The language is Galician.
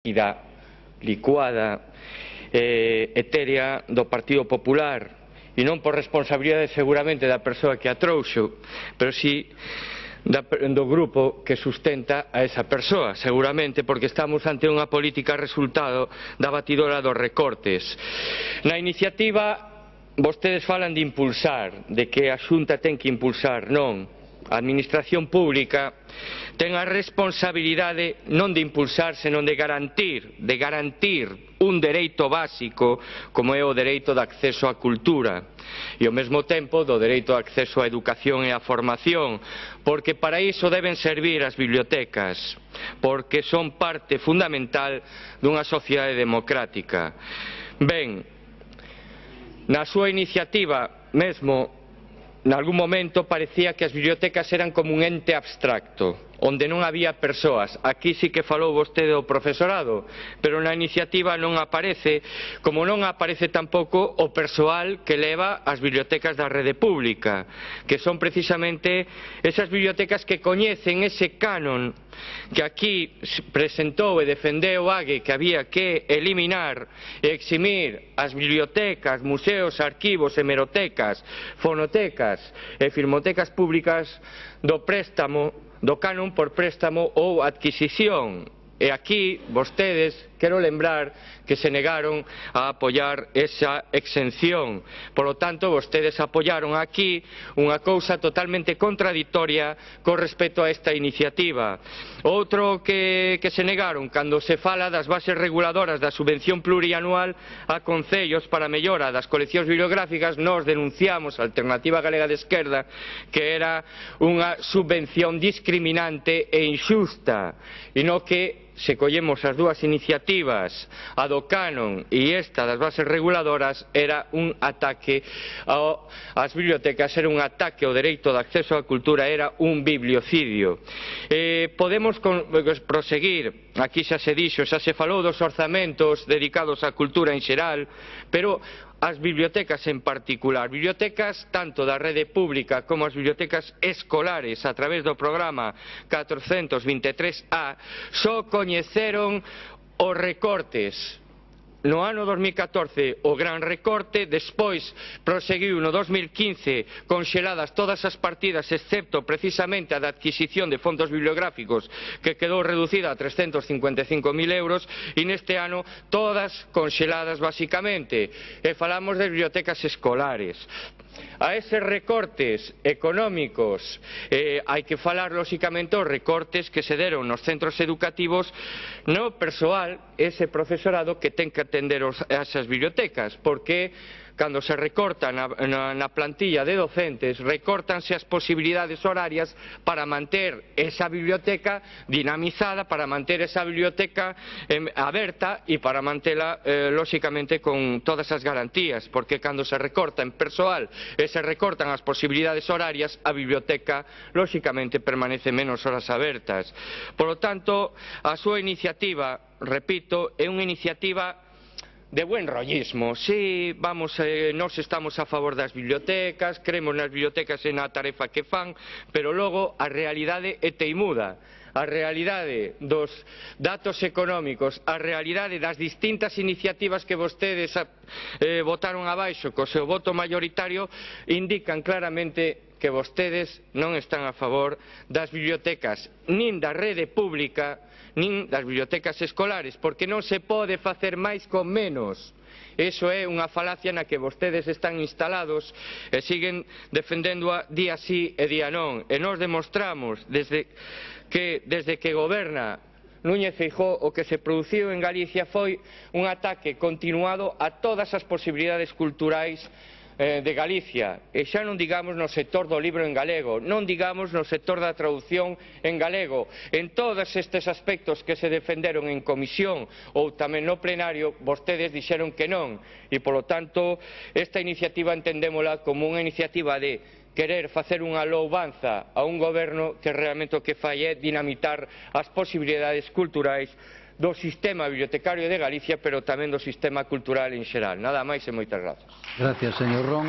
licuada, etérea do Partido Popular, e non por responsabilidade seguramente da persoa que a trouxo, pero si do grupo que sustenta a esa persoa, seguramente porque estamos ante unha política resultado da batidora dos recortes. Na iniciativa vostedes falan de impulsar, de que a Xunta ten que impulsar. Non, a Administración Pública ten a responsabilidade non de impulsar, senón de garantir un dereito básico como é o dereito de acceso á cultura e ao mesmo tempo do dereito de acceso á educación e á formación, porque para iso deben servir as bibliotecas, porque son parte fundamental dunha sociedade democrática. Ben, na súa iniciativa mesmo, nalgún momento parecía que as bibliotecas eran como un ente abstracto, onde non había persoas. Aquí sí que falou vostede do profesorado, pero na iniciativa non aparece, como non aparece tampouco o persoal que leva as bibliotecas da rede pública, que son precisamente esas bibliotecas que coñecen ese canon que aquí presentou e defendeu Ague, que había que eliminar e eximir as bibliotecas, museos, arquivos, hemerotecas, fonotecas e filmotecas públicas do préstamo, do canon por préstamo ou adquisición. E aquí, vostedes, quero lembrar que se negaron a apoiar esa exención. Por lo tanto, vostedes apoiaron aquí unha cousa totalmente contradictoria con respecto a esta iniciativa. Outro que se negaron, cando se fala das bases reguladoras da subvención plurianual a concellos para a mellora das coleccións bibliográficas, nós denunciamos a Alternativa Galega de Esquerda que era unha subvención discriminante e inxusta, e non que se collemos as dúas iniciativas, a do canon e esta das bases reguladoras, era un ataque ás bibliotecas, era un ataque ao dereito de acceso á cultura, era un bibliocidio. Podemos proseguir, aquí xa se dixo, xa se falou dos orzamentos dedicados á cultura en xeral, pero as bibliotecas en particular, bibliotecas tanto da rede pública como as bibliotecas escolares a través do programa 423A, só coñeceron os recortes. No ano 2014 o gran recorte, despois proseguiu no 2015 conxeladas todas as partidas excepto precisamente a da adquisición de fondos bibliográficos, que quedou reducida a 355.000 euros, e neste ano todas conxeladas basicamente. E falamos de bibliotecas escolares. A eses recortes económicos hai que falar lóxicamente os recortes que se deron nos centros educativos no persoal, ese profesorado que ten que atender esas bibliotecas, porque cando se recorta na plantilla de docentes, recórtanse as posibilidades horarias para manter esa biblioteca dinamizada, para manter esa biblioteca aberta e para mantela, lóxicamente, con todas as garantías, porque cando se recorta en persoal e se recortan as posibilidades horarias, a biblioteca, lóxicamente, permanece menos horas abertas. Por lo tanto, a súa iniciativa, repito, é unha iniciativa de buen rollismo. Sí, nós estamos a favor das bibliotecas, creemos nas bibliotecas e na tarefa que fan, pero logo a realidade é teimuda. A realidade dos datos económicos, a realidade das distintas iniciativas que vostedes votaron abaixo co seu voto maioritario indican claramente que vostedes non están a favor das bibliotecas, nin da rede pública, nin das bibliotecas escolares, porque non se pode facer máis con menos. Iso é unha falacia na que vostedes están instalados e siguen defendéndoa día sí e día non. E nós demostramos desde que goberna Núñez Feijóo, o que se produciu en Galicia foi un ataque continuado a todas as posibilidades culturais de Galicia, e xa non digamos no sector do libro en galego, non digamos no sector da traducción en galego. En todos estes aspectos que se defenderon en comisión ou tamén no plenario, vostedes dixeron que non, e polo tanto esta iniciativa entendémola como unha iniciativa de querer facer unha louvanza a un goberno que realmente o que fai é dinamitar as posibilidades culturais do sistema bibliotecario de Galicia, pero tamén do sistema cultural en xeral. Nada máis e moitas grazas. Gracias, señor Ron.